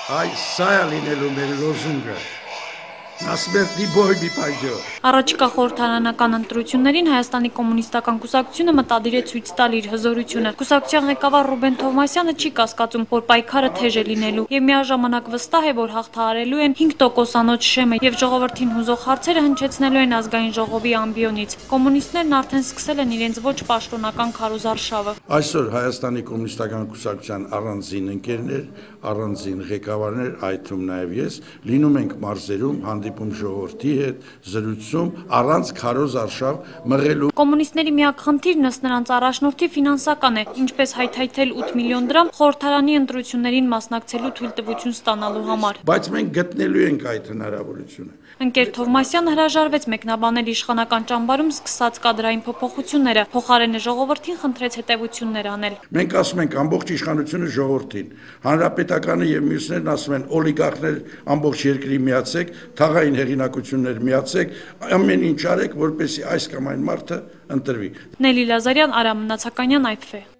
Այ սա է լինելու մեր լոզունգը։ Насмертный бой մի պայջո։ Առաջիկա խորհրդարանական ընտրություններին Հայաստանի կոմունիստական կուսակցությունը մտադիր է ցույց տալ իր հզորությունը։ Կուսակցության ղեկավար Ռուբեն Թովմասյանը չի կասկածում, որ պայքարը թեժ է լինելու եւ միաժամանակ վստահ է, որ հաղթահարելու են 5%-անոց շեմը եւ ժողովրդին հուզող հարցերը հնչեցնելու են ազգային ժողովի ամբիոնից։ Կոմունիստներն արդեն սկսել են իրենց ոչ պաշտոնական քարոզարշավը։ Այսօր Հայաստանի կոմունիստական կուսակցության առանձին ընկերներ, առանձին ղեկավարներ, այդ թվում նաեւ ես, լինում ենք մարզերում, հանդիպում ժողովրդի հետ, զրույցում առանց քարոզ արշավ մղելու։ Կոմունիստների միակ խնդիրն ըստ նրանց առաջնորդի ֆինանսական է, ինչպես հայթայթել 8 միլիոն դրամ խորհրդարանի ընտրություններին մասնակցելու թույլտվություն ստանալու համար։ Բայց մենք գտնելու ենք այդ հնարավորությունը։ Ընկեր Թովմասյանը հրաժարվեց մեկնաբանել իշխանական ճամբարում սկսած կադրային փոփոխությունները, փոխարենը ժողովրդին խնդրեց հետևություններ անել։ Մենք ասում ենք ամբողջ իշխանությունը ժողովրդին, հանրապետականը եւ մյուսներն ասում են օլիգարխներ ամբողջ երկրի միացեք, թաղային հեղինակություններ միացեք, ամեն ինչ արեք, որպեսզի այս կամ այն մարդը ընտրվի։ Նելի Լազարյան, Արամ Մնացականյան, IPV